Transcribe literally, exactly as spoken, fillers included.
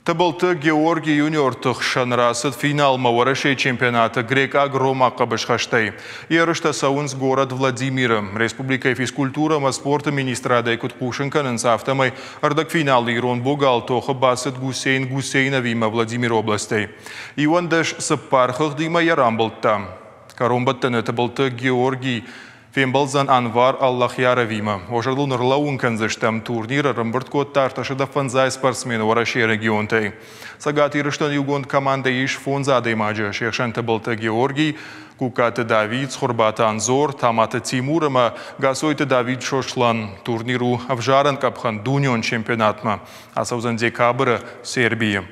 Тыбылты Георгий юниорты хсӕн рацыд финалмӕ Уӕрӕсейы чемпионаты грекъаг-ромаг хъӕбысхӕстӕй. Ерыстӕ цӕуынц горӕт Владимиры. Республикӕйы физкультурӕ ӕмӕ спорты министрадӕй куыд хъусын кӕнынц, афтӕмӕй ӕрдӕгфиналы ирон богал тохы бацыд Гусейн Гусейновимӕ Владимиры областӕй. Иуӕндӕс цыппар хыгъдимӕ йӕ рамбылдта. Кӕронбӕттӕны Тыбылты Георгий фембӕлдзӕн Анвар Аллахьяровимӕ. Уӕ зӕрдыл ныллӕууын кӕндзыстӕм, турнир ӕрӕмбырд кодта ӕртӕсӕдӕ фӕндзай спортсмены Уӕрӕсейы регионтӕй. Цӕгат Ирыстоны иугонд командӕйы ис фондз адӕймаджы, се хсӕн Тыбылты Георгий, Кукаты Давид, Цхуырбаты Анзор, Таматы Тимур ӕмӕ Гасойты Давид Сослан. Турнир у ӕвзарӕн къӕпхӕн дунеон чемпионатмӕ. Ацӕудзӕн декабры Сербийы.